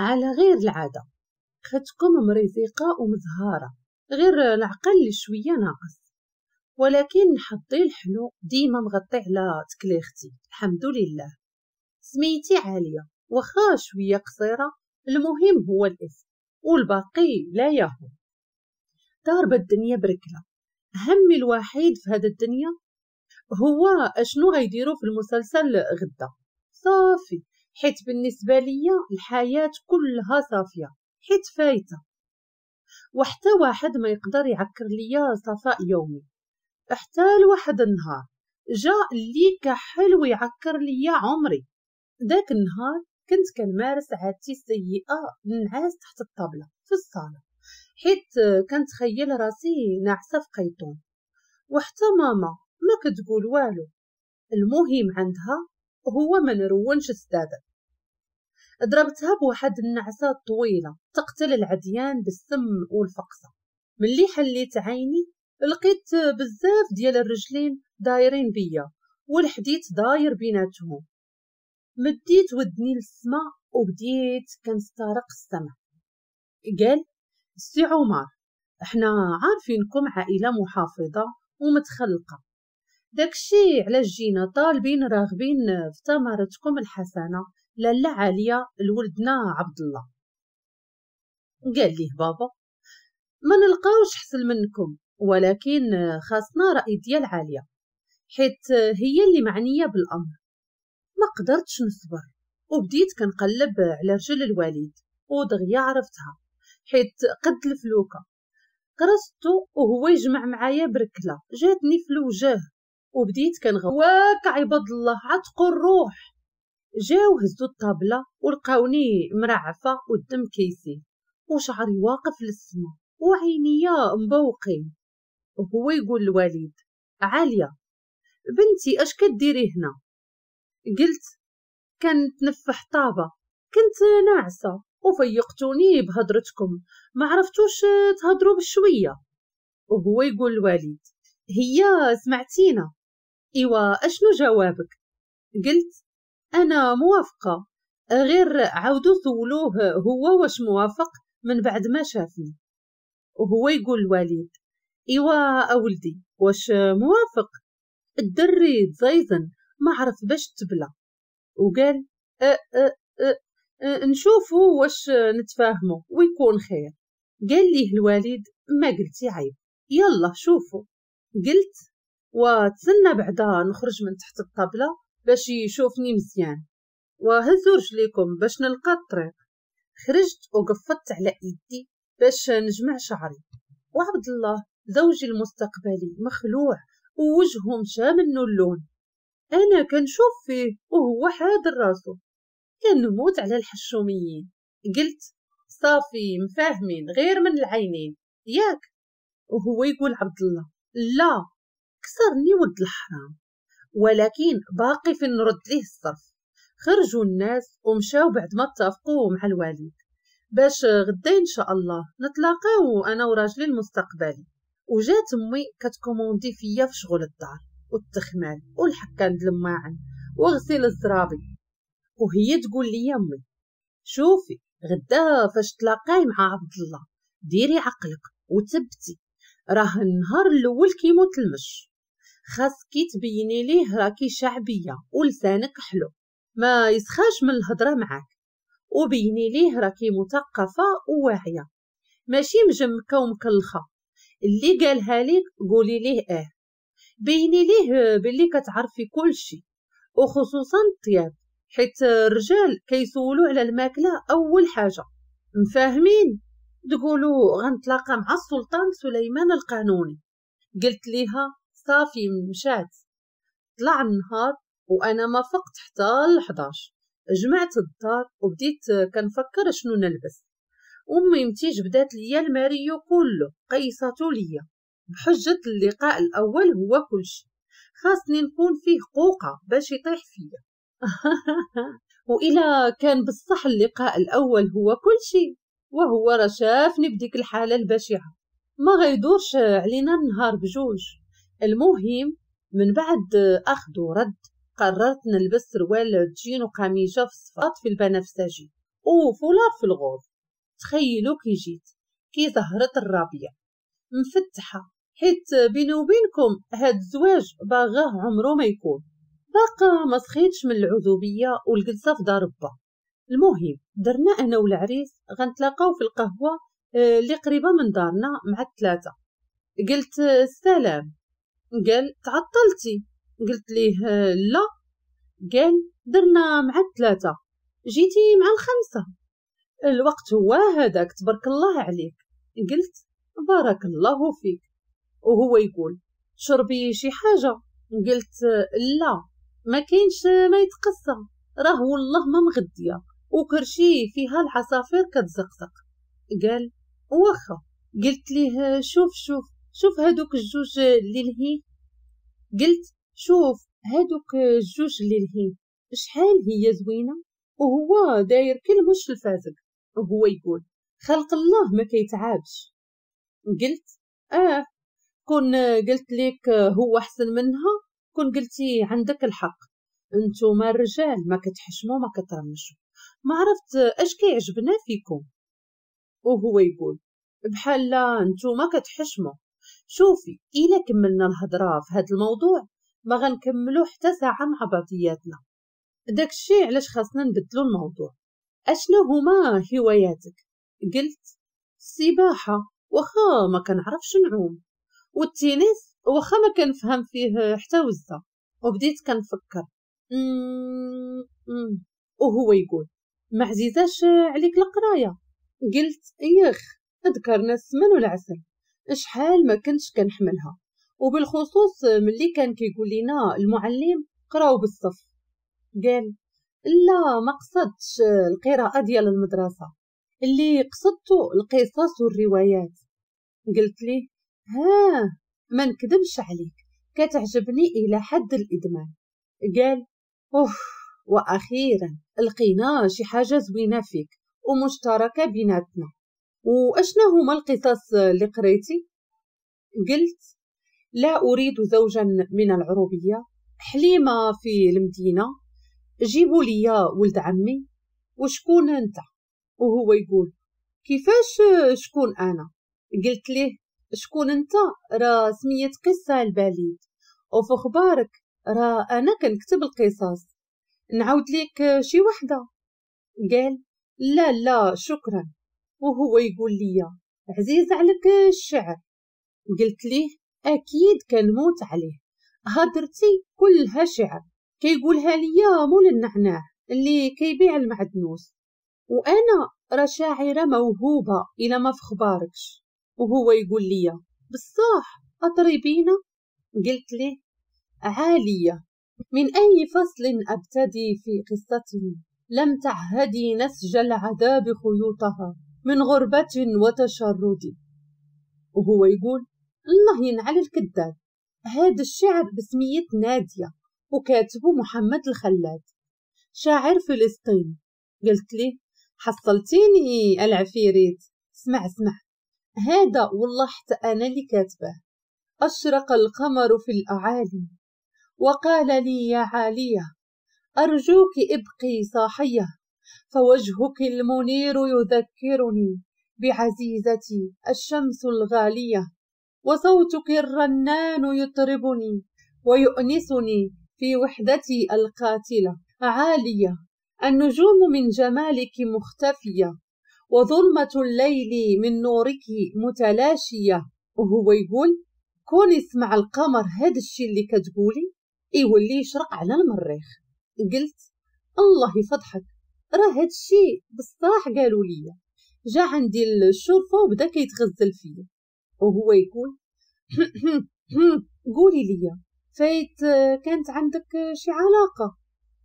على غير العادة. ختكم مريزيقة ومزهارة، غير العقل اللي شوية ناقص، ولكن حظي الحلو ديما مغطي على تكليختي الحمد لله. سميتي عالية واخا شوية قصيرة، المهم هو الاسم والباقي لا يهم. ضاربة الدنيا بركلة، همي الوحيد في هذا الدنيا هو اشنو غيديروا في المسلسل غدا. صافي، حيت بالنسبة ليا الحياة كلها صافية حيت فايتة، وحتى واحد ما يقدر يعكر ليا صفاء يومي. حتى لواحد النهار جا اللي كحل ويعكر ليا عمري. ذاك النهار كنت كنمارس عادتي السيئة، نعاس تحت الطابلة في الصالة، حيت كنتخيل راسي ناعسة في قيطون، وحتى ماما ما كتقول والو. المهم عندها هو ما نرونش السدادة. ضربتها بواحد النعسة طويلة تقتل العديان بالسم والفقصة. ملي حليت عيني لقيت بزاف ديال الرجلين دايرين بيا والحديث داير بيناتهم. مديت ودني للسما وبديت كنسترق السمع. قال السي عمر، احنا عارفينكم عائلة محافظة ومتخلقة، داكشي علاش جينا طالبين راغبين في ثمرتكم الحسنة لاله عالية لولدنا عبد الله. قال ليه بابا، ما نلقاوش حسن منكم، ولكن خاصنا رأي ديال عالية حيت هي اللي معنية بالأمر. ما قدرتش نصبر وبديت كنقلب على رجل الوالد، ودغيا عرفتها حيت قد الفلوكة. قرصتو وهو يجمع معايا بركلة جاتني في الوجه، وبديت كنغواك عباد الله عتقوا الروح. جاو هزو الطابلة ولقاوني مرعفة والدم كيسيل وشعري واقف للسما وعينيا مبوقين. وهو يقول الوالد، عالية بنتي اش كديري هنا؟ قلت كنتنفح طابة، كنت ناعسة وفيقتوني بهضرتكم، ما عرفتوش تهضروا بشوية. وهو يقول الوالد، هي سمعتينا، ايوا اشنو جوابك؟ قلت انا موافقة، غير عاودوا سولوه هو واش موافق من بعد ما شافني. وهو يقول الوالد، ايوا اولدي واش موافق؟ الدري تزيزن ما عرف باش تبلى، وقال أ أ أ نشوفوا واش نتفاهموا ويكون خير. قال ليه الوالد، ما قلتي عيب، يلا شوفوا. قلت وتسنى بعدا نخرج من تحت الطابلة باش يشوفني مزيان، وهزوا رجليكم باش نلقى الطريق. خرجت وقفت على ايدي باش نجمع شعري، وعبد الله زوجي المستقبلي مخلوع ووجهه مشى منه اللون. انا كنشوف فيه وهو حاضر راسو، كنموت على الحشوميين. قلت صافي مفاهمين غير من العينين ياك؟ وهو يقول عبد الله، لا كسرني ولد الحرام، ولكن باقي في نرد ليه الصرف. خرجوا الناس ومشاو بعد ما اتفقوا مع الوالد باش غدا ان شاء الله نتلاقاو انا وراجلي المستقبلي. وجات امي كتكوموندي فيا في شغل الدار والتخمال والحكان د الماعن وغسيل الزرابي، وهي تقول لي امي، شوفي غدا فاش تلاقاي مع عبد الله ديري عقلك وتبتي، راه النهار الاول كيموت المش، خاصكي تبيني ليه راكي شعبية ولسانك حلو ما يسخاش من الهضرة معاك، وبيني ليه راكي مثقفة وواعيه ماشي مجمكه ومكلخه، اللي قالها ليك قولي ليه اه، بيني ليه باللي كتعرفي كل شيء وخصوصا الطياب، حيت الرجال كيسولوا على الماكلة اول حاجة. مفاهمين؟ تقولوا غنتلاقى مع السلطان سليمان القانوني. قلت ليها صافي مشات. طلع النهار وانا ما فقت حتى 11. جمعت الدار وبديت كنفكر شنو نلبس. امي متي جبدات ليا الماريو كله قيصاتو ليا بحجة اللقاء الاول هو كلشي، خاصني نكون فيه قوقه باش يطيح فيا. وإلا كان بصح اللقاء الاول هو كلشي، وهو راه شافني بديك الحالة البشعة، ما غيدورش علينا النهار بجوج. المهم من بعد اخذ ورد قررت نلبس سروال جين وقميجه في الصفات في البنفسجي وفولار في ال rose. تخيلوا كي جيت كي زهرت الرابيه مفتحة، حيت بيني وبينكم هاد الزواج باغاه عمره ما يكون. باقا ما سخيتش من العزوبيه والجلسه في دار با. المهم درنا انا والعريس غنتلاقاو في القهوة اللي قريبه من دارنا مع 3. قلت السلام، قال تعطلتي، قلت ليه لا، قال درنا مع 3، جيتي مع 5، الوقت هو هذاك تبارك الله عليك. قلت بارك الله فيك. وهو يقول شربي شي حاجة، قلت لا ما كاينش ما يتقصى، راه والله ما مغديه وكرشي فيها العصافير كتزقزق. قال واخا. قلت ليه شوف شوف شوف هادوك الجوج اللي لهي، قلت شوف هادوك الجوج اللي لهي شحال هي زوينة، وهو داير كل مش الفازق. وهو يقول خلق الله ما كيتعابش. قلت كون قلت لك هو احسن منها كون قلتي عندك الحق، انتوما الرجال ما كتحشموا ما كترمشوا، ما عرفت اش كيعجبنا فيكم. وهو يقول بحال لا نتوما كتحشموا. شوفي الا كملنا الهضرة في هذا الموضوع ما غنكملو حتى ساعة مع بعضياتنا، داكشي علاش خاصنا نبدلو الموضوع. اشنو هما هواياتك؟ قلت السباحة واخا ما كنعرفش نعوم، والتنس واخا ما كنفهم فيه حتى وزه. وبديت كنفكر. وهو يقول ما عزيزاش عليك القراية؟ قلت يخ ذكرنا السمن والعسل، شحال ما كنتش كنحملها، وبالخصوص ملي كان كيقول لنا المعلم قراو بالصف. قال لا ما قصدتش القراءة ديال المدرسة، اللي قصدته القصص والروايات. قلت ليه ها ما نكذبش عليك كتعجبني الى حد الادمان. قال اوف واخيرا لقينا شي حاجة زوينة فيك ومشتركه بيناتنا. واشنا هما القصص اللي قريتي؟ قلت لا اريد زوجا من العروبية، حليمة في المدينة، جيبوا لي ولد عمي، وشكون انت؟ وهو يقول كيفاش شكون انا؟ قلت ليه شكون انت راه سميت قصة البليد، وفي اخبارك راه انا كنكتب القصص، نعاود لك شي وحده؟ قال لا لا شكرا. وهو يقول لي عزيز عليك الشعر؟ قلت ليه اكيد كنموت عليه، هضرتي كلها شعر، كيقولها ليا مول النعناع اللي كيبيع المعدنوس، وانا راه شاعره موهوبه الى ما في خباركش. وهو يقول لي بصح اطربينا؟ قلت ليه عالية، من اي فصل ابتدي في قصتي لم تعهدي نسج العذاب خيوطها من غربة وتشرد. وهو يقول الله ينعل الكذاب، هذا الشعر بسمية نادية وكاتبه محمد الخلاد شاعر فلسطين. قلت ليه حصلتيني العفيريت، اسمع اسمع هذا والله حتى أنا اللي كاتبه. أشرق القمر في الأعالي وقال لي يا عالية أرجوك ابقي صاحية، فوجهك المنير يذكرني بعزيزتي الشمس الغالية، وصوتك الرنان يطربني ويؤنسني في وحدتي القاتلة. عالية النجوم من جمالك مختفية، وظلمة الليل من نورك متلاشية. وهو يقول كون يسمع القمر هاد الشي اللي كتقولي يولي يشرق على المريخ. قلت الله يفضحك، راه هاد الشي بصح قالوا لي. جا عندي الشرفة وبدا كيتغزل فيا. وهو يقول قولي لي فايت كانت عندك شي علاقة؟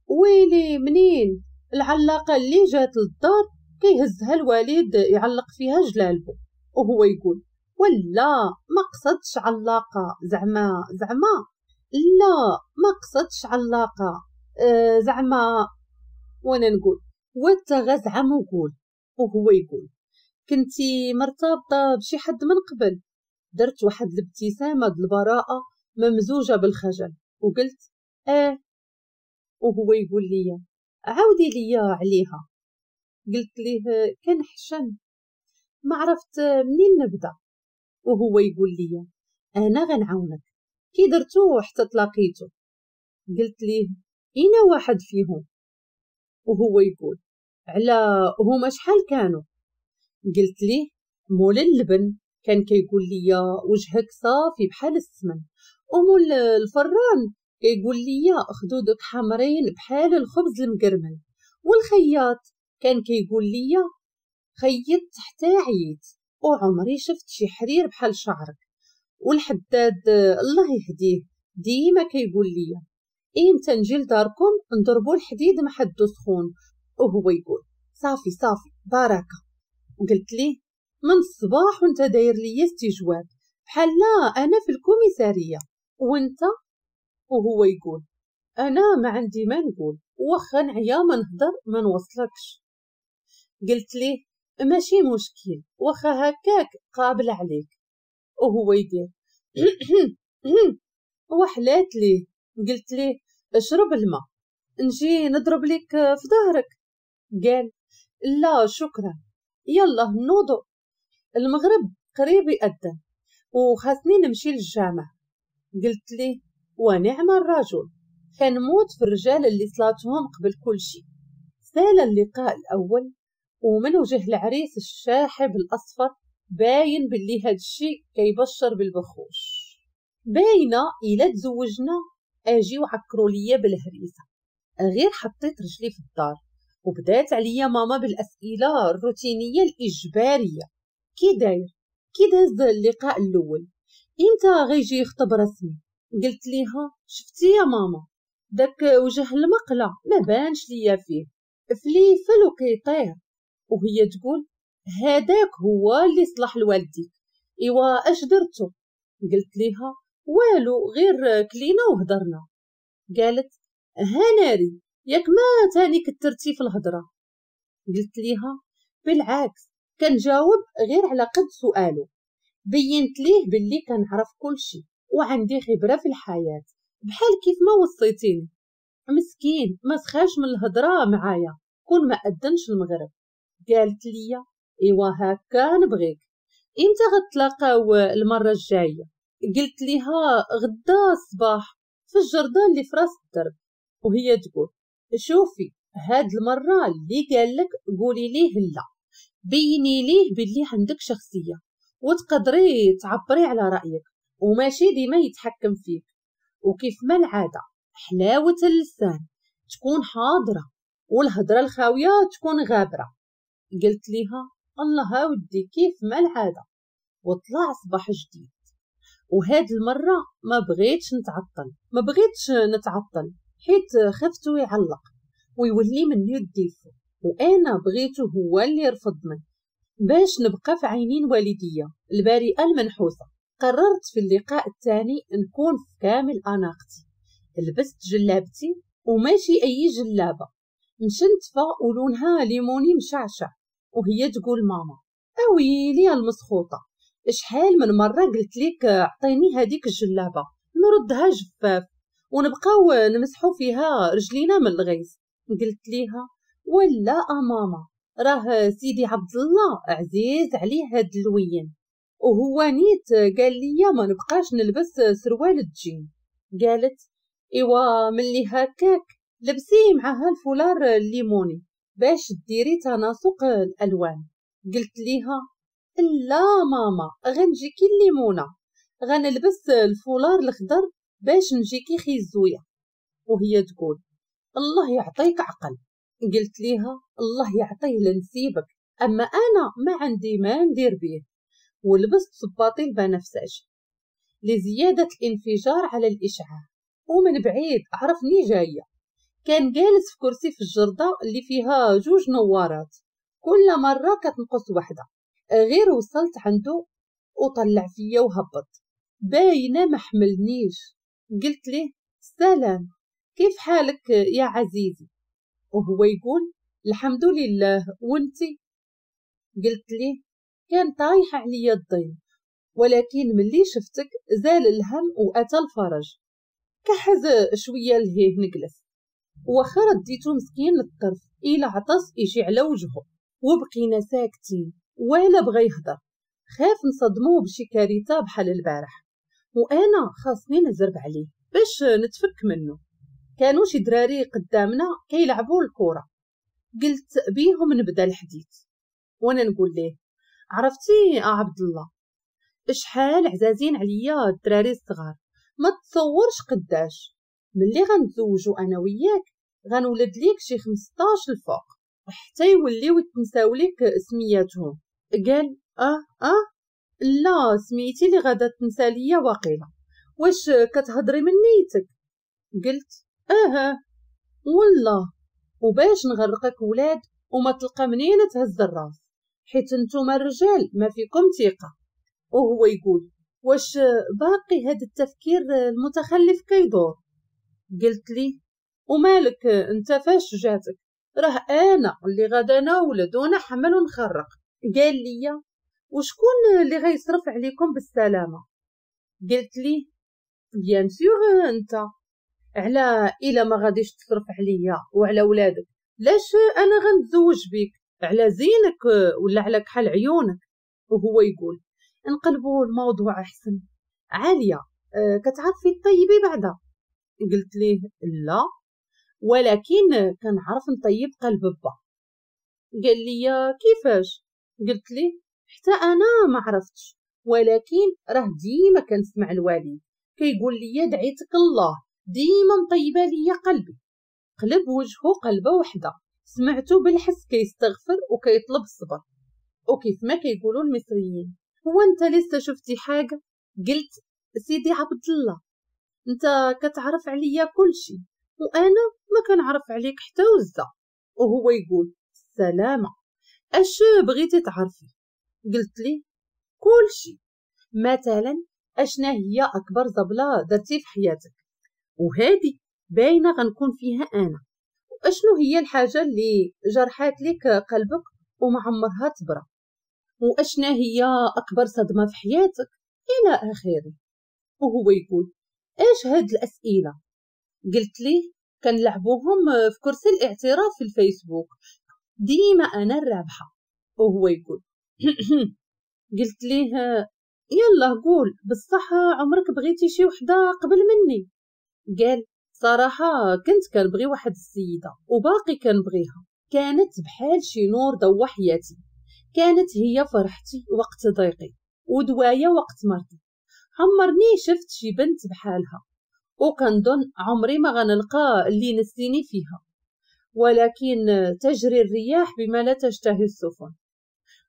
ويلي منين العلاقة اللي جات للدار كيهزها الوالد يعلق فيها جلالبو. وهو يقول ولا ما قصدش علاقة زعما زعما، لا ما قصدش علاقة زعما. وانا نقول وانت زعما وقول. وهو يقول كنتي مرتبطة بشي حد من قبل؟ درت واحد الابتسامة البراءة ممزوجه بالخجل وقلت اه. وهو يقول لي عاودي لي عليها. قلت ليه كنحشم، ما عرفت منين نبدا. وهو يقول لي انا غنعاونك، كي درتو حتى تلاقيتو؟ قلت ليه اين واحد فيهم؟ وهو يقول على هما شحال كانوا؟ قلت ليه مول اللبن كان كيقول لي وجهك صافي بحال السمن، ومول الفران كيقول لي خدودك حمرين بحال الخبز المقرمل، والخياط كان كيقول لي خيطت حتى عييت وعمري شفت شي حرير بحال شعرك، والحداد الله يهديه ديما كيقول لي امتى نجي لداركم نضربوا الحديد ما حدو سخون، وهو يقول صافي صافي بركه. قلت ليه من الصباح وانت داير لي استجواب بحال لا انا في الكوميساريه وانت؟ وهو يقول انا ما عندي ما نقول، واخا نعيا ما نهضر ما نوصلكش. قلت ليه ماشي مشكل، واخا هكاك قابل عليك. وهو يدير وحلات ليه. قلت ليه اشرب الماء نجي نضرب لك في ظهرك. قال لا شكرا، يلا نوضو المغرب قريب يأذن وخاصني نمشي للجامع. قلت ليه ونعم الرجل، كنموت في الرجال اللي صلاتهم قبل كل شيء. سال اللقاء الأول ومن وجه العريس الشاحب الأصفر باين باللي هاد الشيء كيبشر بالبخوش، باينة إلا تزوجنا أجي وعكروا ليا بالهريسة. غير حطيت رجلي في الدار وبدات عليا ماما بالأسئلة الروتينية الإجبارية، كي داير؟ كي داز اللقاء الأول؟ إمتى غيجي يخطب رسمي؟ قلت ليها شفتي يا ماما داك وجه المقلة ما بانش ليا فيه فليفل وكيطير. وهي تقول هذاك هو اللي صلح لوالديك، ايوا اش درتو؟ قلت ليها والو غير كلينا وهضرنا. قالت هاناري ياك ما تاني كترتي في الهضره؟ قلت ليها بالعكس كنجاوب غير على قد سؤاله، بينت ليه باللي كنعرف كل شيء وعندي خبره في الحياه بحال كيف ما وصيتيني. مسكين ما سخاش من الهضره معايا كون ما اذنش المغرب. قالت لي ايوا هكا نبغيك، امتى غتلاقاو المره الجايه؟ قلت ليها غدا الصباح في الجردة اللي في راس الدرب. وهي تقول شوفي هاد المره اللي قال لك قولي ليه لا، بيني ليه باللي عندك شخصيه وتقدري تعبري على رايك وماشي ديما يتحكم فيك، وكيف ما العاده حلاوه اللسان تكون حاضره والهضره الخاويه تكون غابره. قلت ليها الله ودي كيف ما العاده. وطلع صباح جديد، وهاد المره ما بغيتش نتعطل حيت خفته يعلق ويولي مني الديفو، وانا بغيته هو اللي يرفضني باش نبقى في عينين والديا البريئه المنحوسه. قررت في اللقاء الثاني نكون في كامل اناقتي، لبست جلابتي وماشي اي جلابه، مشنتفه ولونها ليموني مشعشع. وهي تقول ماما اويلي المسخوطه، شحال من مره قلت لك عطيني هذيك الجلابه نردها جفاف ونبقاو نمسحو فيها رجلينا من الغيظ. قلت ليها ولا ماما راه سيدي عبد الله عزيز عليه هاد اللوين، وهو نيت قال لي ما نبقاش نلبس سروال الجين. قالت ايوا ملي هكاك لبسي معها الفولار الليموني باش ديري تناسق الالوان. قلت ليها لا ماما غنجيكي الليمونه، غنلبس الفولار الخضر باش نجيكي خيزويه. وهي تقول الله يعطيك عقل. قلت ليها الله يعطيه لنسيبك، اما انا ما عندي ما ندير بيه. ولبست صباطي البنفسجي لزياده الانفجار على الاشعاع، ومن بعيد عرفني جايه. كان جالس في كرسي في الجردة اللي فيها جوج نوارات، كل مره كتنقص وحده. غير وصلت عنده وطلع فيا وهبط، باينه ما حملنيش. قلت ليه سلام كيف حالك يا عزيزي؟ وهو يقول الحمد لله وانتي؟ قلت ليه كان طايح عليا الضيم، ولكن ملي شفتك زال الهم واتى الفرج. كحز شويه لهيه نجلس، واخا رديتو مسكين للطرف الى عطس يجي على وجهه. وبقينا ساكتين ولا بغى يهضر، خاف نصدموه بشي كارثة بحال البارح، وانا خاصني نزرب عليه باش نتفك منه. كانوا شي دراري قدامنا كيلعبوا الكره، قلت بيهم نبدا الحديث وانا نقول ليه عرفتي عبد الله شحال عزازين عليا الدراري الصغار، ما تصورش قداش، ملي غنتزوجوا انا وياك غنولد ليك شي 15 الفوق حتى يوليو يتنساو ليك سمياتهم. قال اه لا سميتي اللي غادا تنسى ليا واقيلا، واش كتهضري من نيتك؟ قلت اه والله، وباش نغرقك ولاد وما تلقى منين تهز الراس، حيت نتوما الرجال ما فيكم ثقة. وهو يقول واش باقي هاد التفكير المتخلف كيدور؟ قلت لي ومالك انت فاش جاتك، راه انا اللي غادا نولد ونحمل ونخرق. قال لي وشكون اللي غيصرف عليكم بالسلامة؟ قلت لي bien sûr انت، على الا ما غاديش تصرف عليا وعلى ولادك لاش انا غنتزوج بيك، على زينك ولا على كحل عيونك؟ وهو يقول نقلبوا الموضوع احسن. عالية كتعرفي طيبي بعدا؟ قلت ليه لا، ولكن كنعرف نطيب قلب با. قال لي كيفاش؟ قلت ليه حتى انا ما عرفتش، ولكن راه ديما كنسمع الوالد كيقول لي دعيتك الله ديما مطيبه ليا قلبي. قلب وجهه قلبه وحده، سمعته بالحس كيستغفر وكيطلب الصبر. وكيف ما كيقولوا المصريين هو انت لسه شفتي حاجة؟ قلت سيدي عبد الله انت كتعرف عليا كلشي وانا ما كنعرف عليك حتى وزه. وهو يقول السلامة اش بغيتي تعرفي؟ قلت لي كلشي، مثلا اشنا هي اكبر زبله درتي في حياتك، وهذه باينة غنكون فيها انا، واشنو هي الحاجة اللي جرحات لك قلبك وما عمرها تبرى، واشنا هي اكبر صدمة في حياتك الى اخره. وهو يقول ايش هاد الاسئلة؟ قلت ليه كنلعبوهم في كرسي الاعتراف في الفيسبوك، ديما انا الرابحة. وهو يقول قلت ليه يلا قول بصح عمرك بغيتي شي وحده قبل مني؟ قال صراحة كنت كنبغي واحد السيدة وباقي كنبغيها، كانت بحال شي نور ضوى حياتي، كانت هي فرحتي وقت ضيقي ودوايا وقت مرضي، عمرني شفت شي بنت بحالها، وكنظن عمري ما غنلقى اللي نسيني فيها، ولكن تجري الرياح بما لا تشتهي السفن.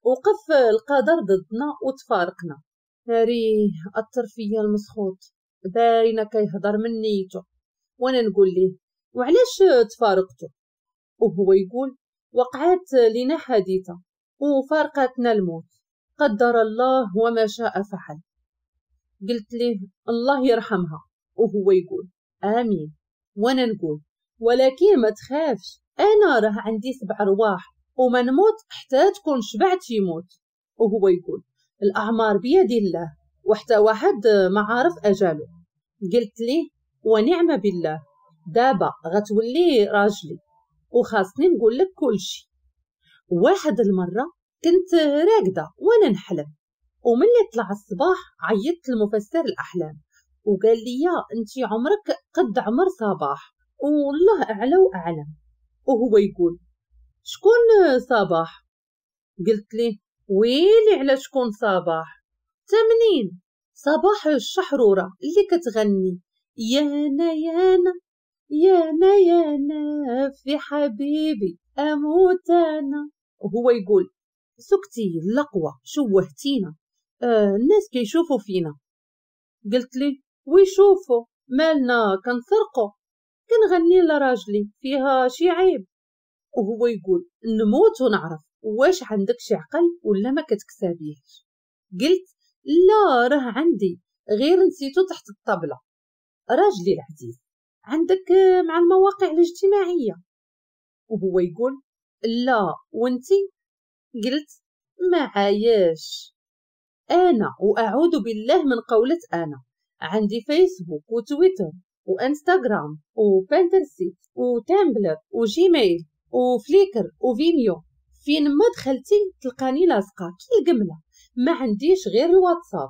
وقف القدر ضدنا وتفارقنا. ناري أثر فيا المسخوط، باينة كيهضر من نيته. وانا نقول ليه وعلاش تفارقتو؟ وهو يقول وقعت لنا حادثه وفارقتنا الموت، قدر الله وما شاء فعل. قلت ليه الله يرحمها، وهو يقول امين. وانا نقول ولكن ما تخافش، انا راه عندي 7 ارواح وما نموت حتى تكون شبعت يموت. وهو يقول الاعمار بيد الله وحتى واحد ما عارف اجاله. قلت ليه ونعم بالله، دابا غتولي راجلي وخاصني نقول لك كلشي. واحد المرة كنت راقده وانا نحلم، وملي طلع الصباح عيطت لمفسر الاحلام وقال لي انت عمرك قد عمر صباح والله اعلى واعلم. وهو يقول شكون صباح؟ قلت ليه ويلي على شكون صباح؟ تمنين صباح الشحروره اللي كتغني يانا يانا يانا يانا في حبيبي اموت انا. وهو يقول سكتي اللقوه شوهتينا، الناس كيشوفوا فينا. قلت لي ويشوفوا مالنا كنسرقوا، كنغني لراجلي فيها شي عيب. وهو يقول نموت ونعرف واش عندك شي عقل ولا ما كتكسابيهش. قلت لا راه عندي، غير نسيتو تحت الطبلة. راجلي العزيز عندك مع المواقع الاجتماعية؟ وهو يقول لا وانتي؟ قلت ما عايش انا، واعوذ بالله من قولة انا. عندي فيسبوك وتويتر وانستغرام وبنترست وتامبلر وجيميل وفليكر وفيميو. فين ما دخلتي تلقاني لاصقه كي القمله، ما عنديش غير الواتساب.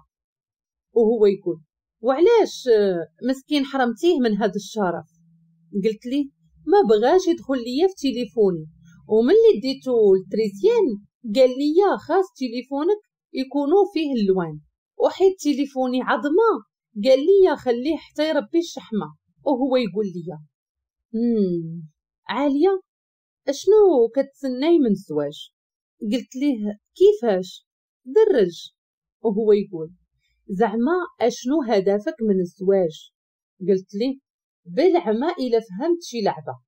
وهو يقول وعلاش مسكين حرمتيه من هذا الشرف؟ قلت لي ما بغاش يدخل ليا في تليفوني، وملي ديتو ل l'électricien قال لي خاص تليفونك يكونوا فيه اللوان، وحيت تليفوني عظمه قال لي خليه حتى يربي الشحمه. وهو يقول لي عالية اشنو كتسناي من الزواج؟ قلت ليه كيفاش درج؟ وهو يقول زعما اشنو هدفك من الزواج؟ قلت ليه بالعمى الا فهمت شي لعبه.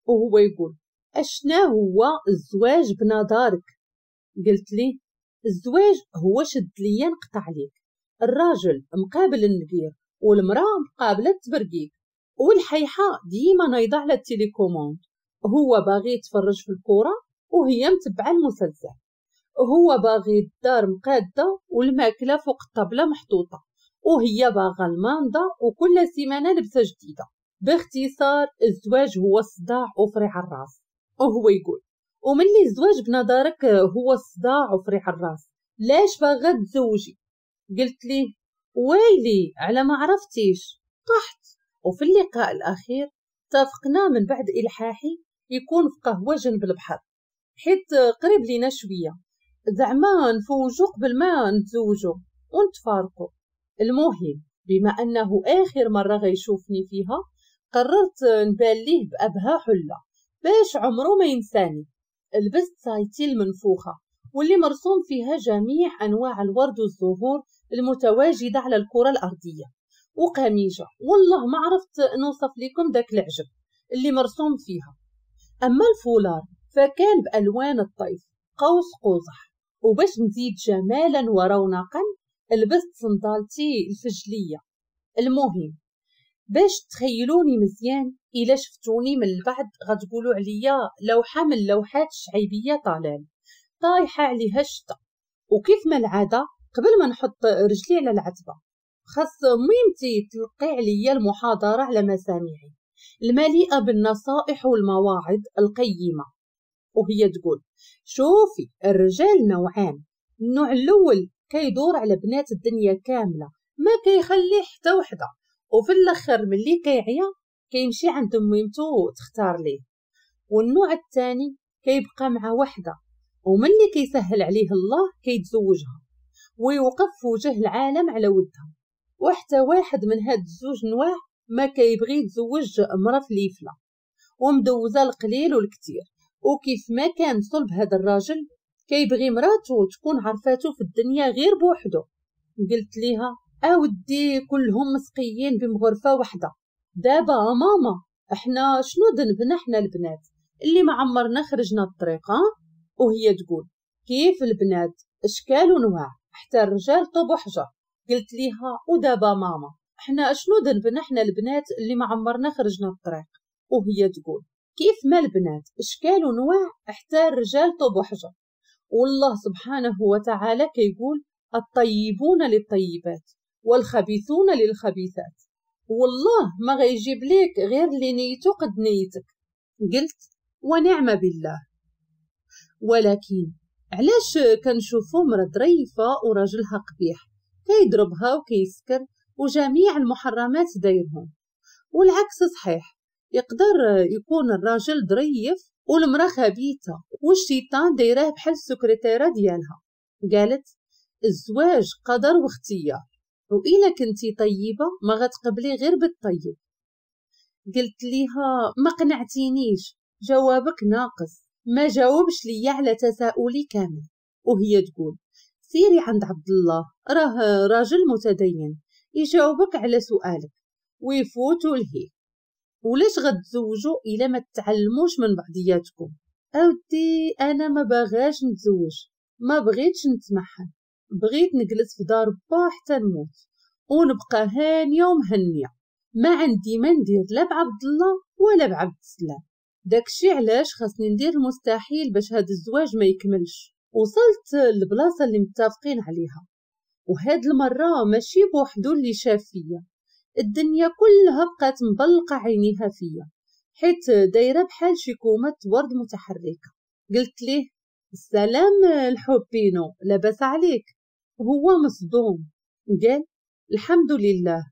وهو يقول اشنا هو الزواج بنظرك؟ قلت ليه الزواج هو شد ليا نقطع عليك، الراجل مقابل النقير والمراة مقابله التبرقيق، والحيحه ديما نايضه على ال télécommande، هو باغي يتفرج في الكورة وهي متبعة المسلسل، هو باغي الدار مقاده والماكله فوق الطابله محطوطة، وهي باغا الماندا وكل سيمانه لبسه جديدة. باختصار الزواج هو الصداع وفريع الراس. وهو يقول وملي الزواج بنظرك هو الصداع وفريع الراس لاش باغا تزوجي؟ قلت ليه ويلي على ما عرفتيش. طحت. وفي اللقاء الأخير اتفقنا من بعد إلحاحي يكون في قهوة جنب البحر، حيت قريب لينا شوية، زعما نفوجو قبل ما نتزوجو ونتفارقو. المهم بما أنه آخر مرة غيشوفني فيها قررت نبان ليه بأبها حلة باش عمره ما ينساني. لبست صايتي المنفوخة واللي مرسوم فيها جميع أنواع الورد والزهور المتواجدة على الكرة الأرضية، وقميجة والله ما عرفت نوصف لكم داك العجب اللي مرسوم فيها. أما الفولار فكان بألوان الطيف قوس قزح، وباش نزيد جمالا ورونقا لبست صندالتي الفجلية. المهم باش تخيلوني مزيان، إلا شفتوني من البعد غتقولوا عليا لوحة من لوحات الشعيبية طالال طايحة عليها الشتا. وكيف ما العادة قبل ما نحط رجلي على العتبة خاص ميمتي تلقي عليا المحاضرة على مسامعي المليئة بالنصائح والمواعظ القيمة، وهي تقول شوفي الرجال نوعان، النوع الأول كيدور على بنات الدنيا كاملة ما كيخلي حتى وحدة، وفي الأخر ملي كيعيا كيمشي عند ميمتو تختار ليه، والنوع الثاني كيبقى مع وحدة وملي كيسهل عليه الله كيتزوجها ويوقف في وجه العالم على ودها، وحتى واحد من هاد الزوج نواع ما كيبغي يتزوج مرا فليفله ومدوزه القليل والكثير. وكيف ما كان صلب هذا الراجل كيبغي مراتو تكون عرفاتو في الدنيا غير بوحدو. قلت ليها اودي كلهم مسقيين بمغرفه وحده، دابا ماما احنا شنو ذنبنا احنا البنات اللي ما عمرنا خرجنا الطريق؟ وهي تقول كيف البنات اشكال ونواع حتى الرجال طوب وحجر. قلت ليها ودابا ماما احنا شنو ذنبنا احنا البنات اللي ما عمرنا خرجنا الطريق؟ وهي تقول كيف ما البنات اشكال ونواع حتى الرجال طوب وحجر. والله سبحانه وتعالى كيقول الطيبون للطيبات والخبيثون للخبيثات، والله ما غيجيب ليك غير اللي نيتو قد نيتك. قلت ونعم بالله. ولكن علاش كنشوفو مرا ظريفة وراجلها قبيح كيضربها وكيسكر وجميع المحرمات دايرهم؟ والعكس صحيح، يقدر يكون الراجل ظريف والمرا خبيثة والشيطان دايرة بحال السكرتيره ديالها. قالت الزواج قدر واختيار، وإلا كنتي طيبة ما غتقبلي غير بالطيب. قلت ليها ما قنعتينيش، جوابك ناقص، ما جاوبش ليا على تساؤلي كامل. وهي تقول سيري عند عبد الله راه راجل متدين يجاوبك على سؤالك ويفوتوا لهيه. ولاش غتزوجوا الا ما تعلموش من بعضياتكم؟ اودي انا ما باغاش نتزوج، ما بغيتش نتمحن، بغيت نجلس في دار با حتى نموت ونبقى هانيه ومهنيه، ما عندي ما ندير لا بعبد الله ولا بعبد السلام. داكشي علاش خاصني ندير المستحيل باش هاد الزواج ما يكملش. وصلت للبلاصه اللي متفقين عليها، وهاد المرة ماشي بوحدو اللي شاف فيا، الدنيا كلها بقات مبلقه عينيها فيا حيت دايرة بحال شي كومة ورد متحركة. قلت ليه السلام الحبينو، لاباس عليك؟ هو مصدوم، قال الحمد لله،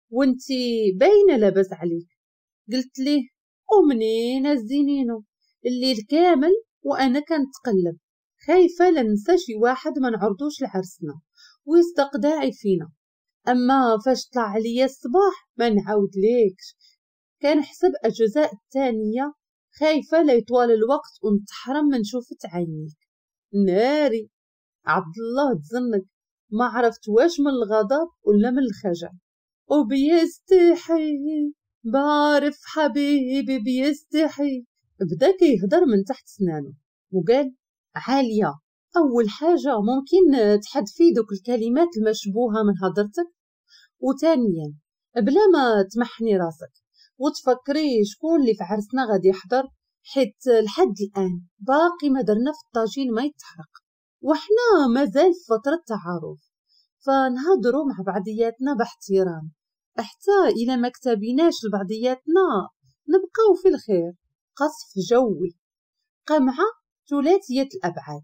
وانتي باينة لاباس عليك. قلت ليه ومنين الزينينو، الليل كامل وانا كنتقلب، خايفة لننسى شي واحد ما نعرضوش لعرسنا ويصدق داعي فينا. اما فاش طلع عليا الصباح ما نعاود ليكش، كنحسب اجزاء الثانية، خايفة لا يطوال الوقت ونتحرم من شوفة عينيك. ناري عبد الله تزنك، ما عرفت واش من الغضب ولا من الخجل. وبيستحي بعرف حبيبي بيستحي. بدا كيهضر من تحت سنانه وقال عالية، أول حاجة ممكن تحذفي دوك الكلمات المشبوهة من هضرتك، وثانيا بلا ما تمحني راسك وتفكري شكون اللي في عرسنا غادي يحضر، حيت لحد الآن باقي ما درنا في الطاجين ما يتحرق، وحنا مازال في فترة تعارف، فنهضروا مع بعضياتنا باحترام، حتى إلى ما كتبيناش لبعضياتنا نبقاو في الخير. قصف جوي، قمعة ثلاثية الأبعاد.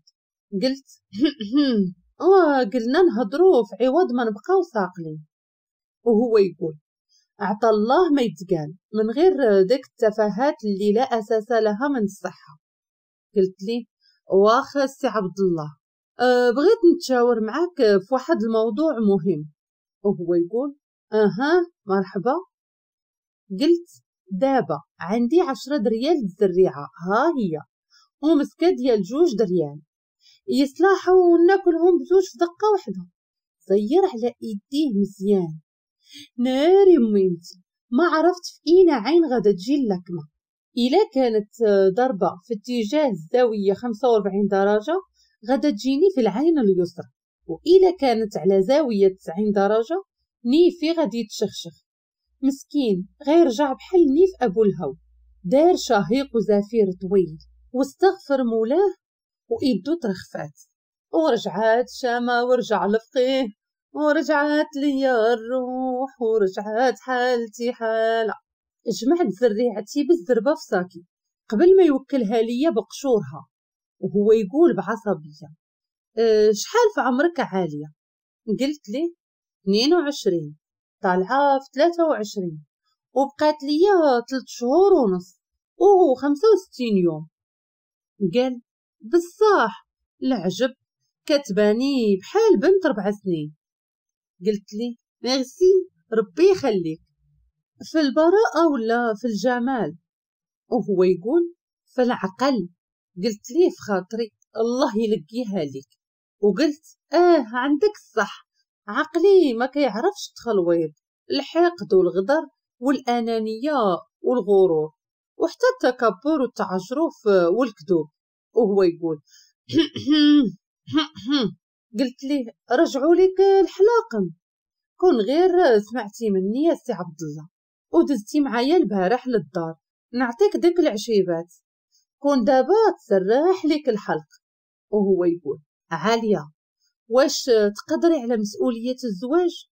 قلت وقلنا نهضروا في عوض ما نبقاو ساقلين. وهو يقول عطى الله ما يتقال من غير ديك التفاهات اللي لا أساس لها من الصحة. قلت لي واخا السي عبد الله، بغيت نتشاور معاك في واحد الموضوع مهم. وهو يقول اها مرحبا. قلت دابا عندي 10 دريال الزريعة، ها هي، ومسكة ديال 2 دريال، يصلحوا وناكلهم بزوج في دقة واحدة. زير على ايديه مزيان. ناري ميمتي، ما عرفت في اين عين غادا تجي اللكمة. الا كانت ضربة في اتجاه الزاوية 45 درجة غادا تجيني في العين اليسرى، وإلا كانت على زاوية 90 درجة نيفي غادي يتشخشخ. مسكين غيرجع بحال نيف أبو الهو. دار شهيق وزفير طويل واستغفر مولاه وإيدو ترخفات، ورجعات شامة ورجع لفقيه، ورجعات ليا الروح ورجعات حالتي حالة. جمعت زريعتي بالزربة في ساكي قبل ما يوكلها ليا بقشورها. وهو يقول بعصبية شحال في عمرك عالية؟ قلت لي 22، طالعة في 23، وبقات ليا 3 شهور ونص وهو 65 يوم. قال بصح العجب، كتباني بحال بنت 4 سنين. قلت لي ميرسي ربي يخليك، في البراءة ولا في الجمال؟ وهو يقول في العقل. قلت ليه في خاطري الله يلقيها لك. وقلت عندك الصح، عقلي ما كيعرفش التخلويض، الحقد والغدر والأنانية والغرور وحتى التكبر والتعجرف والكذوب. وهو يقول قلت ليه رجعوا لك الحلاقم، كون غير سمعتي مني يا سي عبد الله ودزتي معايا البارح للدار نعطيك ديك العشيبات، كون دابا تسرح لك الحلق. وهو يقول عالية واش تقدري على مسؤولية الزواج؟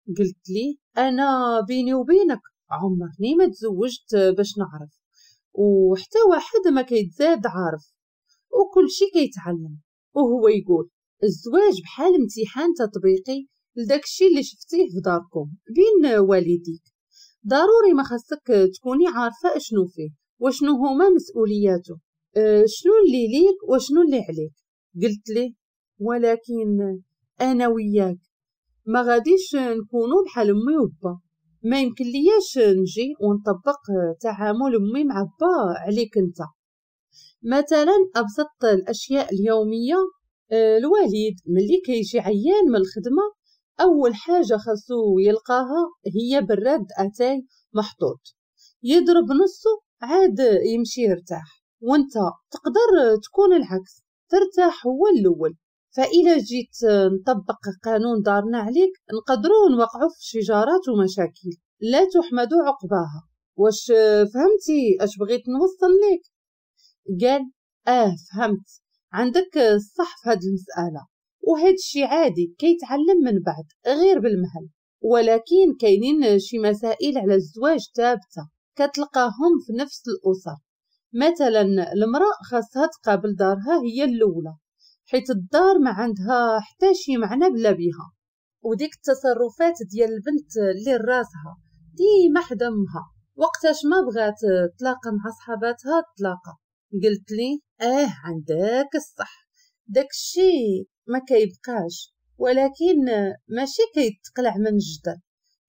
قلت لي أنا بيني وبينك عمرني ما تزوجت باش نعرف، وحتى واحد ما كيتزاد عارف وكل شي كيتعلم. وهو يقول الزواج بحال امتحان تطبيقي لداك الشي اللي شفتيه في داركم بين والديك، ضروري ما خاصك تكوني عارفة اشنو فيه وشنو هما مسؤولياته، شنو اللي ليك وشنو اللي عليك. قلت ليه ولكن انا وياك ما غاديش نكونوا بحال امي وبا، ما يمكن لياش نجي ونطبق تعامل امي مع با عليك انت. مثلا ابسط الاشياء اليومية، الوالد ملي كيجي عيان من الخدمة اول حاجة خاصو يلقاها هي براد اتاي محطوط، يضرب نصه عاد يمشي يرتاح، وانت تقدر تكون العكس، ترتاح هو الاول. فإلا جيت نطبق قانون دارنا عليك نقدروا نوقعوا في شجارات ومشاكل لا تحمد عقباها. واش فهمتي اش بغيت نوصل لك؟ قال فهمت، عندك الصح في هذه المسألة، وهذا الشيء عادي كيتعلم من بعد غير بالمهل، ولكن كاينين شي مسائل على الزواج ثابتة كتلقاهم في نفس الأسر. مثلا المرأة خاصها تقابل دارها هي الأولى، حيت الدار ما عندها حتى شي معنى بلا بيها. وديك التصرفات ديال البنت اللي راسها ديما حدا امها، وقتاش ما بغات تلاقى مع صحاباتها تلاقى. قلت لي عندك الصح، داكشي ما كيبقاش، ولكن ماشي كيتقلع من الجدر،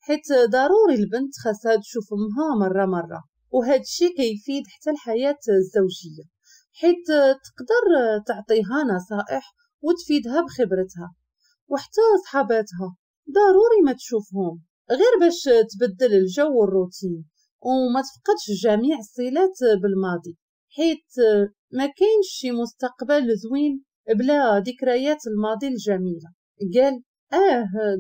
حيت ضروري البنت خاصها تشوف امها مرة مرة، وهذا الشيء كيفيد حتى الحياة الزوجية، حيت تقدر تعطيها نصائح وتفيدها بخبرتها. وحتى صحاباتها ضروري ما تشوفهم غير باش تبدل الجو والروتين وما تفقدش جميع الصلات بالماضي، حيت ما كاينش شي مستقبل زوين بلا ذكريات الماضي الجميلة. قال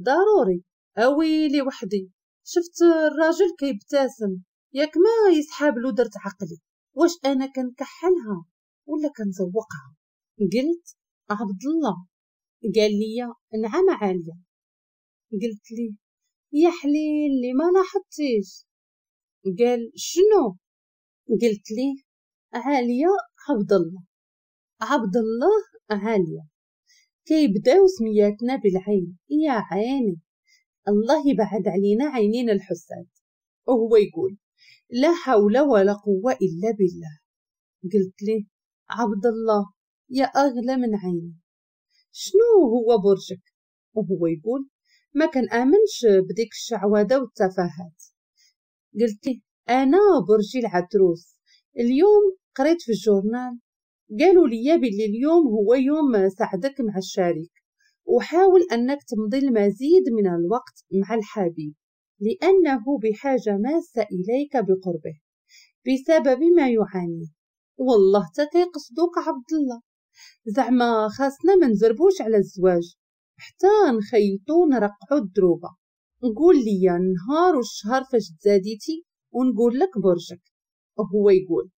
ضروري. اويلي وحدي شفت الراجل كيبتسم، ياك ما يسحاب له درت عقلي، واش انا كنكحلها ولا كنزوقها؟ قلت عبد الله. قال لي نعم عالية. قلت لي يا حليلي ما لاحظتيش. قال شنو؟ قلت لي عالية عبد الله، عبد الله عالية، كيبداو سمياتنا بالعين، يا عيني الله يبعد علينا عينين الحساد. وهو يقول لا حول ولا قوة إلا بالله. قلت لي عبد الله يا أغلى من عيني، شنو هو برجك؟ وهو يقول ما كنآمنش بديك الشعوذة والتفاهات. قلت لي أنا برجي العتروس، اليوم قريت في ال journal قالوا لي باللي اليوم هو يوم سعدك مع الشريك، وحاول أنك تمضي المزيد من الوقت مع الحبيب لأنه بحاجة ماسة إليك بقربه بسبب ما يعانيه. والله تا كيقصدوك عبد الله، زعما خاصنا ما نزربوش على الزواج حتى نخيطو نرقعو الدروبه. نقول لي النهار والشهر فاش تزاديتي ونقول لك برجك. وهو يقول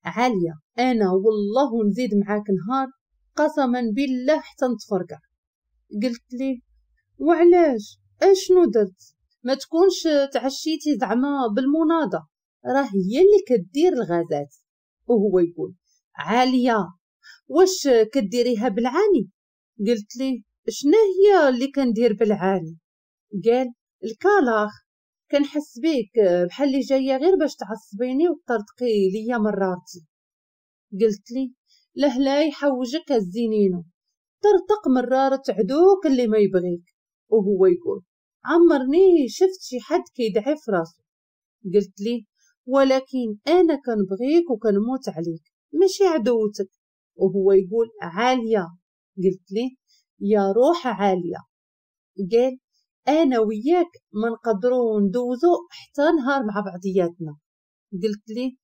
عالية أنا والله نزيد معاك نهار قسما بالله حتى نتفرقع. قلت ليه وعلاش؟ اشنو درت؟ ما تكونش تعشيتي زعما بالمناضة، راه هي اللي كدير الغازات. وهو يقول عالية واش كديريها بالعاني؟ قلت ليه شنو هي اللي كندير بالعاني؟ قال الكالاخ، كنحس بيك بحال اللي جاية غير باش تعصبيني وتطرطقي ليا مرارتي. قلت لي له لا يحوجك الزينينو، طرطق مرارة عدوك اللي ما يبغيك. وهو يقول عمرني شفت شي حد كيدعي في راسو. قلت لي ولكن انا كنبغيك وكنموت عليك ماشي عدوتك. وهو يقول عالية. قلت لي يا روح عالية. قال انا وياك ما نقدروا ندوزو حتى نهار مع بعضياتنا. قلت لي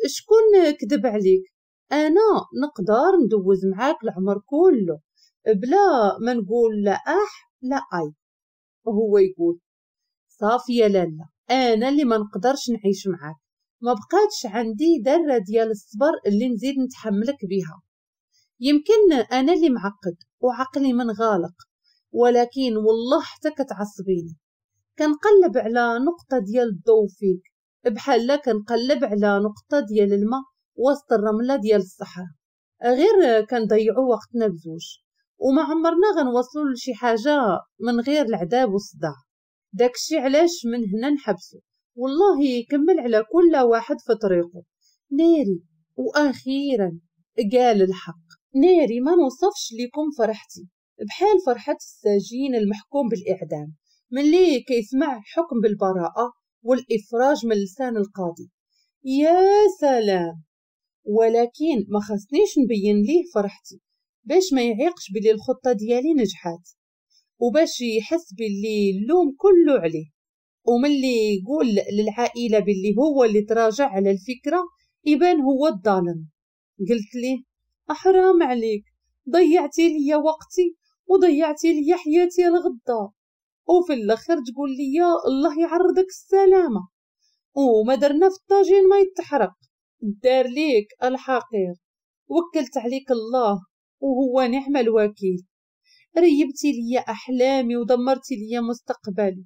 شكون كذب عليك؟ انا نقدر ندوز معاك العمر كله بلا ما نقول لا اح لا اي. وهو يقول صافي يا لالا انا اللي ما نقدرش نعيش معاك، ما بقاتش عندي ذره ديال الصبر اللي نزيد نتحملك بها. يمكن انا اللي معقد وعقلي منغالق، ولكن والله حتى كتعصبيني. كنقلب على نقطة ديال الضوء فيك بحال كنقلب على نقطة ديال الماء وسط الرملة ديال الصحراء، غير كنضيعوا وقتنا بزوج وما عمرنا غنوصلوا لشي حاجة من غير العذاب والصداع. داكشي علاش من هنا نحبسو، والله يكمل على كل واحد في طريقه. ناري واخيرا قال الحق. ناري ما نوصفش لكم فرحتي، بحال فرحة السجين المحكوم بالإعدام ملي كيسمع حكم بالبراءة والإفراج من لسان القاضي. يا سلام! ولكن ما خصنيش نبين ليه فرحتي باش ما يعيقش بلي الخطة ديالي نجحات، وباش يحس بلي اللوم كله عليه. وملي يقول للعائلة بلي هو اللي تراجع على الفكرة يبان هو الظالم. قلت ليه أحرام عليك، ضيعتي لي وقتي وضيعتي لي حياتي الغدا، وفي الاخر تقول لي الله يعرضك السلامة وما درنا في الطاجين ما يتحرق. دار ليك الحقير، وكلت عليك الله وهو نعم الوكيل. ريبتي لي احلامي ودمرتي لي مستقبلي،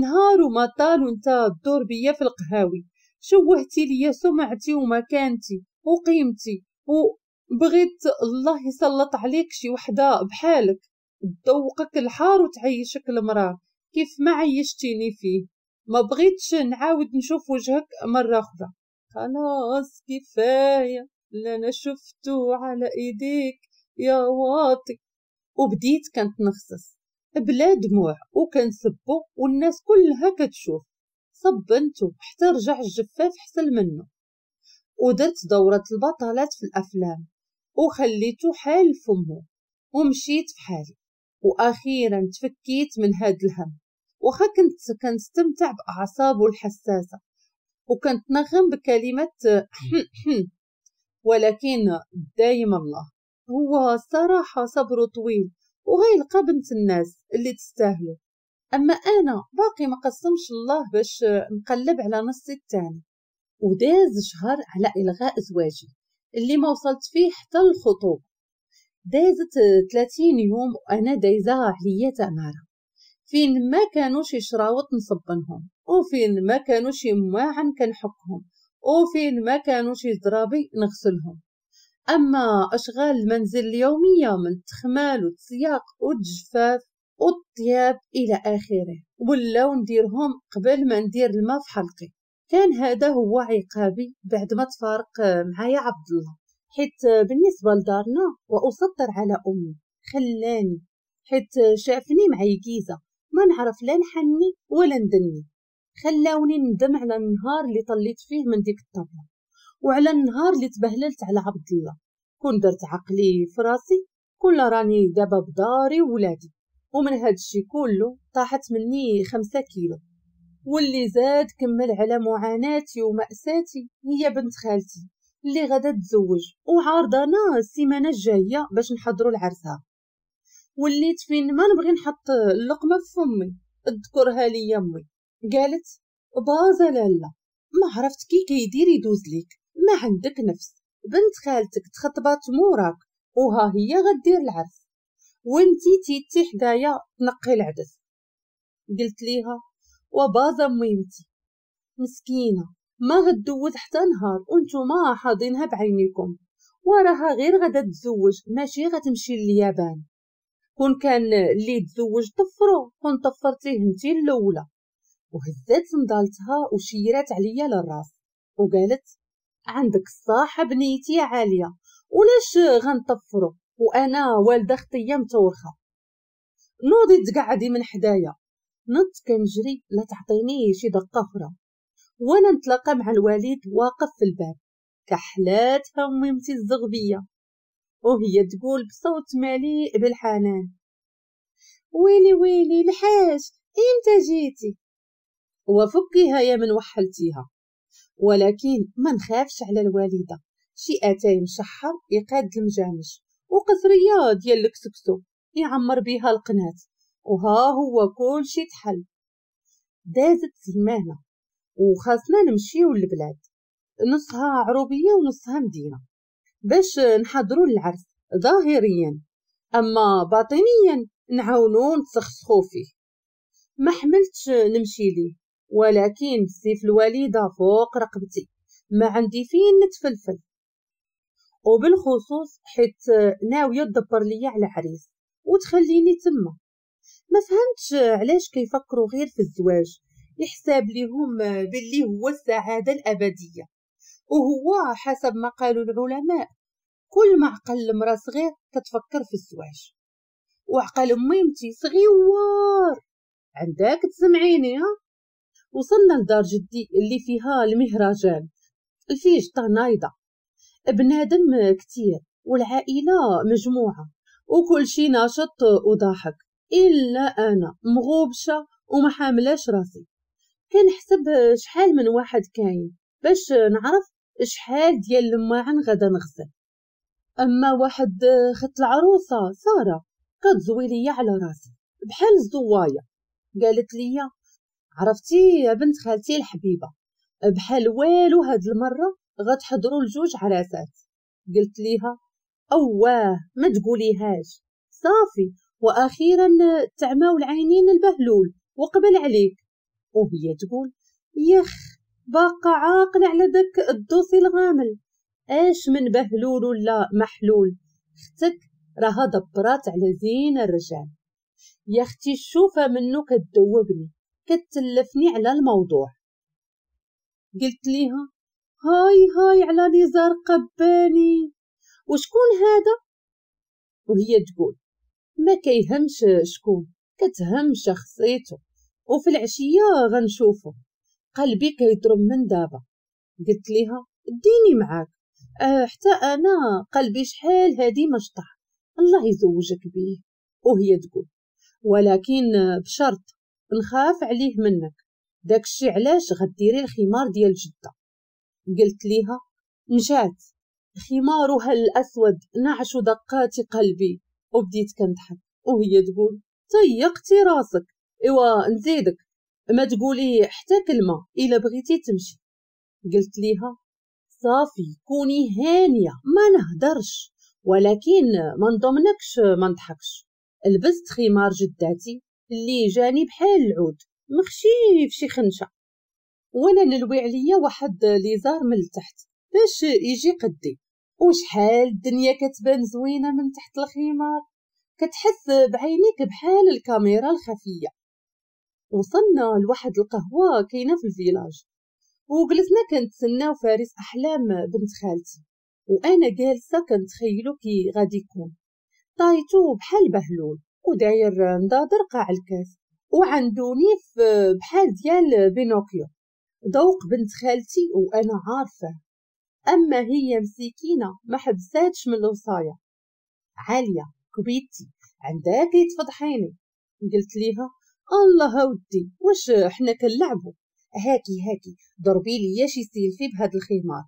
نهار وما طال وانت تدور بيا في القهاوي، شوهتي لي سمعتي ومكانتي وقيمتي، وبغيت الله يسلط عليك شي وحده بحالك تذوقك الحار وتعيشك المرار كيف ما عيشتيني فيه. ما بغيتش نعاود نشوف وجهك مرة أخرى. خلاص كفاية اللي أنا شفته على إيديك يا واطي. وبديت كنتنخصص بلا دموع وكنسبو والناس كلها كتشوف. صبنتو حتى رجع الجفاف حسن منه، ودرت دورة البطلات في الأفلام وخليته حال فمه ومشيت في حالي. وأخيرا تفكيت من هاد الهم، وخا كنت كنستمتع بأعصابه الحساسة وكنتنغم بكلمة ولكن دايم الله هو الصراحة صبره طويل وغيلقى بنت الناس اللي تستاهله. أما أنا باقي ما قسمش الله باش نقلب على نصي الثاني. وداز شهر على إلغاء زواجي اللي ما وصلت فيه حتى الخطوبة. دازت 30 يوم وأنا دايزة عليا تمارة، فين ما كانوا شي شراوط نصبنهم، وفين ما كانوا شي مواعن كنحكهم، وفين ما كانوا شي زرابي نغسلهم. أما أشغال المنزل اليومية من التخمال والتسياق والجفاف والطياب إلى آخره ولاو نديرهم قبل ما ندير الماء في حلقي. كان هذا هو عقابي بعد ما تفارق معايا عبد الله، حيت بالنسبة لدارنا وأسطر على أمي خلاني، حيت شافني معيكيزة ما نعرف لا نحني ولا ندني. خلاوني ندم على النهار اللي طليت فيه من ديك الطبلة، وعلى النهار اللي تبهللت على عبد الله. كون درت عقلي في راسي كل راني دابا بداري وولادي. ومن هاد الشي كله طاحت مني 5 كيلو. واللي زاد كمل على معاناتي ومأساتي هي بنت خالتي اللي غادا تزوج وعارضانا السيمانة الجاية باش نحضروا لعرسها. وليت فين ما نبغي نحط اللقمة في فمي اذكرها لي امي. قالت بازا لالا ما عرفت كي كيدير يدوز ليك، ما عندك نفس، بنت خالتك تخطبات موراك وها هي غدير العرس وانتي تيتي حدايا تنقي العدس. قلت ليها وبازا ميمتي مسكينه ما غدوز حتى نهار وانتوما حاضينها بعينيكم، وراها غير غدا تزوج ماشي غتمشي لليابان. كون كان اللي تزوج طفرو كون طفرتيه انتي الاولى. وهزات صندالتها وشيرات عليا للراس وقالت عندك الصح بنيتي عالية، ولاش غنطفرو وانا والده خطيه متورخه؟ نوضي تقعدي من حدايا. نط كنجري لا تعطيني شي دقه اخرى. وانا نتلاقى مع الوالد واقف في الباب، كحلاتها ميمتي الزغبيه وهي تقول بصوت مليء بالحنان ويلي ويلي الحاج امتى جيتي؟ وفكيها يا من وحلتيها. ولكن ما نخافش على الوالدة، شي اتاي مشحر يقاد المجامش وقصريه ديال الكسكسو يعمر بيها القنات، وها هو كل شي تحل. دازت سيمانه وخاصنا نمشيو للبلاد، نصها عروبيه ونصها مدينة باش نحضروا للعرس ظاهريا، اما باطنيا نعاونو نتسخسخو فيه. ما حملتش نمشي ليه، ولكن سيف الوالدة فوق رقبتي ما عندي فين نتفلفل، وبالخصوص حيت ناوية تدبر ليا على عريس وتخليني تما. ما فهمتش علاش كيفكروا غير في الزواج، يحساب ليهم باللي هو السعادة الابدية، وهو حسب ما قالوا العلماء كل ما عقل المراة صغير كتفكر في الزواج. وعقل ميمتي صغيور عندك تسمعيني ها. وصلنا لدار جدي اللي فيها المهرجان، الفيجطه نايضه، بنادم كتير والعائلة مجموعة وكل شي ناشط وضاحك، الا انا مغوبشه وما حاملاش راسي. كنحسب شحال من واحد كاين باش نعرف شحال ديال الماعن غدا نغسل. اما واحد خت العروسة ساره كتزوي ليا على راسي بحال الزوايه، قالت لي عرفتي يا بنت خالتي الحبيبة بحال والو هاد المرة غتحضروا لجوج عراسات. قلت ليها اواه ما تقوليهاش، صافي واخيرا تعماو العينين البهلول وقبل عليك. وهي تقول يخ باقا عاقل على داك الدوسي الغامل، اش من بهلول ولا محلول، اختك راها دبرات على زين الرجال. يا اختي الشوفه منو كتذوبني، كتلفني على الموضوع. قلت ليها هاي هاي على نزار قباني، وشكون هذا؟ وهي تقول ما كيهمش شكون، كتهم شخصيته، وفي العشية غنشوفه. قلبي كيضرب من دابا. قلت ليها ديني معاك، حتى انا قلبي شحال هادي مشطح، الله يزوجك بيه. وهي تقول ولكن بشرط نخاف عليه منك، داكشي علاش غديري الخمار ديال جده. قلت ليها مشات خمارها الاسود نعش دقات قلبي، وبديت كنضحك. وهي تقول طيقتي راسك، ايوا نزيدك ما تقولي حتى كلمة الا بغيتي تمشي. قلت ليها صافي كوني هانيه ما نهدرش، ولكن ما نضمنكش ما نضحكش. لبست خمار جداتي اللي جاني بحال العود مخشي في شي خنشه، وانا نلوي عليا واحد ليزار من التحت باش يجي قدي. وشحال الدنيا كتبان زوينة من تحت الخمار، كتحس بعينيك بحال الكاميرا الخفية. وصلنا لواحد القهوة كاينه في ال village، وجلسنا كنتسناو فارس احلام بنت خالتي، وانا جالسة كنتخيلو كي غادي يكون طايتو بحال بهلول، وداير نضادر قاع الكاس، وعندو نيف بحال ديال بينوكيو. ذوق بنت خالتي وانا عارفه، اما هي مسكينه ما حبساتش من الوصايه. عالية كبيتي عندك تفضحيني. قلت ليها الله ودي واش حنا كنلعبوا، هاكي هاكي ضربي لي شي سيلفي بهاد الخمار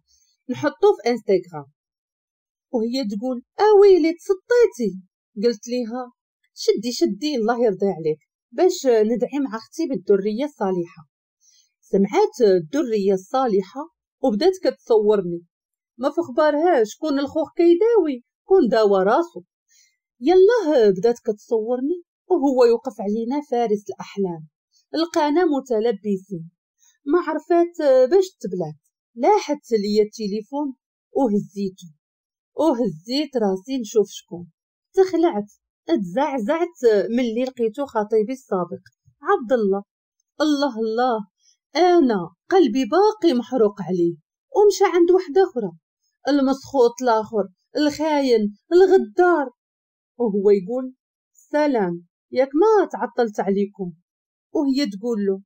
نحطو في انستغرام. وهي تقول اويلي تسطيتي. قلت ليها شدي شدي الله يرضي عليك باش ندعي مع اختي بالذريه الصالحة. سمعات الذرية الصالحة وبدات كتصورني، ما في خبارهاش كون الخوخ كيداوي كون داوى راسو. يلاه بدات كتصورني وهو يوقف علينا فارس الاحلام، لقانا متلبسين، ما عرفات باش تبلات. لاحت ليا التليفون وهزيته، وهزيت راسي نشوف شكون. تخلعت تزعزعت ملي لقيتو خطيبي السابق عبد الله. الله الله، انا قلبي باقي محروق عليه، ومشى عند وحده اخرى، المسخوط الاخر، الخاين الغدار. وهو يقول سلام ياك ما تعطلت عليكم. وهي تقول له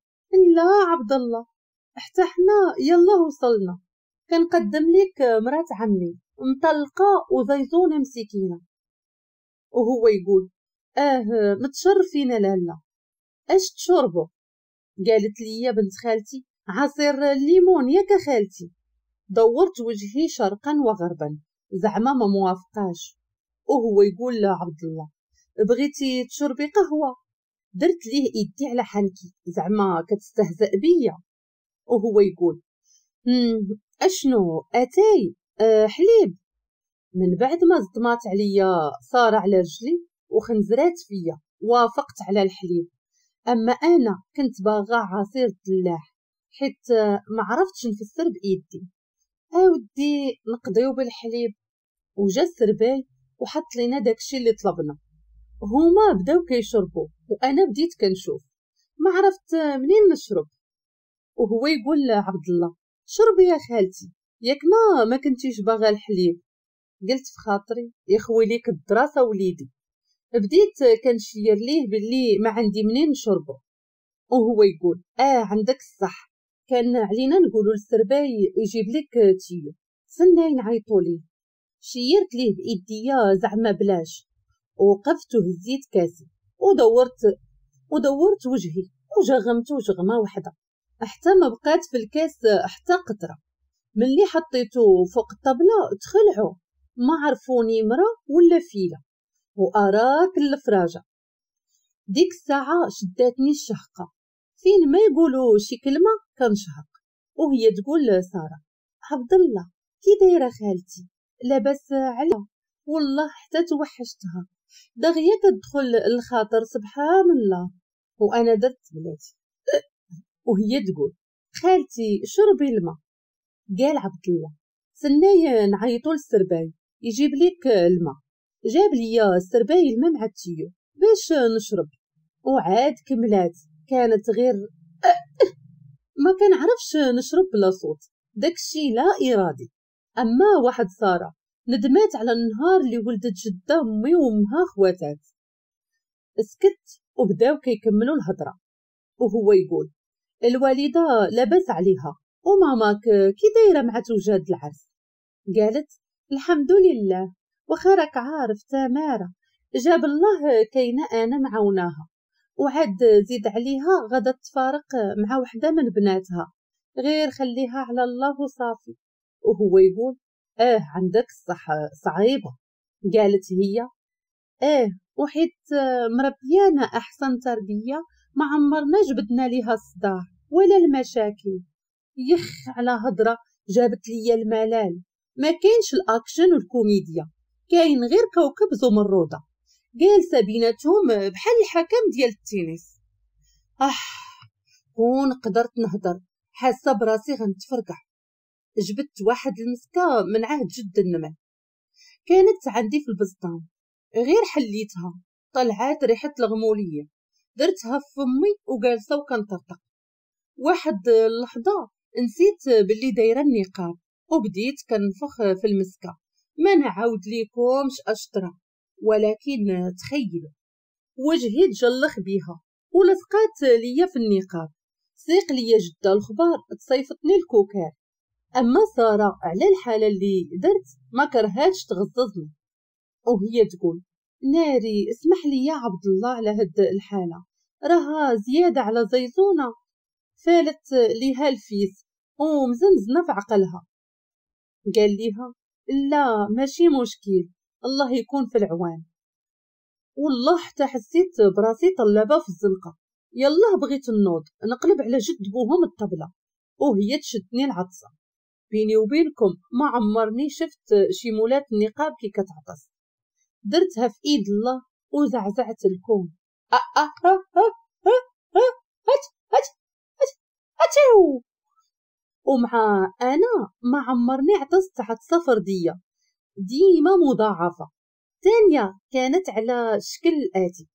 لا عبد الله حتى حنا يلا وصلنا، كنقدم لك مرات عمي مطلقه وزيزونه مسكينه. وهو يقول متشرفين لالا، اش تشربوا؟ قالت لي بنت خالتي عصير الليمون ياك خالتي. دورت وجهي شرقا وغربا زعما ما موافقاش. وهو يقول لا عبد الله بغيتي تشربي قهوة؟ درت ليه ايدي على حنكي زعما كتستهزأ بيا. وهو يقول اشنو اتاي حليب؟ من بعد ما صدمات عليا صار على رجلي وخنزرات فيا، وافقت على الحليب. اما انا كنت باغا عصير الدلاح حيت ما عرفتش نفسر بايدي. اودي نقضيو بالحليب. وجا السرباي وحط لينا داكشي اللي طلبنا. هما بداو كيشربوا وانا بديت كنشوف، ما عرفت منين نشرب. وهو يقول عبد الله شربي يا خالتي ياك ما كنتيش باغا الحليب. قلت في خاطري يخوي ليك الدراسة وليدي. بديت كنشير ليه باللي ما عندي منين نشربه. وهو يقول عندك الصح، كان علينا نقولوا للسرباي يجيب لك tuyau، سناي نعيطوا ليه. شيرت ليه بايديا زعما بلاش. وقفت وهزيت كاسي ودورت وجهي وجغمت جغمه وحده حتى ما بقات في الكاس حتى قطرة. ملي حطيته فوق الطبلة تخلعوا، ما عرفوني مرا ولا فيله، واراك الفراجه. ديك الساعة شداتني الشهقه، فين ما يقولوا شي كلمة كنشهق. وهي تقول ساره عبد الله كي دايرة خالتي؟ لاباس عليها والله حتى توحشتها، دغيا كتدخل الخاطر سبحان الله. وانا درت بلاتي. وهي تقول خالتي شربي الماء. قال عبد الله سناي نعيطو للسرباي يجيب ليك الماء. جاب ليا السرباي الماء مع ال tuyau باش نشرب. وعاد كملات، كانت غير ما كنعرفش نشرب بلا صوت، داكشي لا إرادي. أما واحد سارة ندمات على النهار اللي ولدت جدة أمي وأمها خواتات. سكت وبداو كيكملوا الهضرة، وهو يقول الوالدة لاباس عليها وماماك كي دايرة مع توجاد العرس؟ قالت الحمد لله، واخا راك عارف تمارة جاب الله كاينة أنا معاوناها، وعاد زيد عليها غادا تفارق مع وحدة من بناتها، غير خليها على الله وصافي. وهو يقول عندك الصح صعيبة. قالت هي وحيت مربيانا أحسن تربية ما عمرنا جبدنا ليها الصداع ولا المشاكل. يخ على هضرة جابت ليا الملال، ما كاينش الأكشن والكوميديا، كاين غير كوكب زمردة جالسة بيناتهم بحال الحكم ديال التنس. كون قدرت نهضر، حاسة براسي غنتفرقع. جبت واحد المسكة من عهد جد النمل، كانت عندي في البسطان، غير حليتها طلعات ريحة الغمولية، درتها في فمي وجالسة وكنطرطق. واحد اللحظة نسيت باللي دايرة النقاب وبديت كنفخ في المسكة. ما نعاود ليكمش اشطرة، ولكن تخيلوا وجهي تجلخ بيها ولصقات ليا في النقاب. سيق ليا جدة الخبار تصيفطني الكوكار. اما سارة على الحالة اللي درت ما كرهاتش تغززني، وهي تقول ناري اسمح لي يا عبد الله على هاد الحالة، راها زيادة على زيزونه فالت ليها الفيس ومزنزنه في عقلها. قال ليها لا ماشي مشكل، الله يكون في العوان. والله حتى حسيت براسي طلابه في الزنقة، يلا بغيت النوض نقلب على جد بوهم الطبلة وهي تشدني العطسه. بيني وبينكم ما عمرني شفت شي مولات النقاب كي كتعطس. درتها في ايد الله وزعزعت الكون. ومع انا ما عمرني عطست عطسة فردية، ديما مضاعفه. ثانية كانت على شكل الاتي.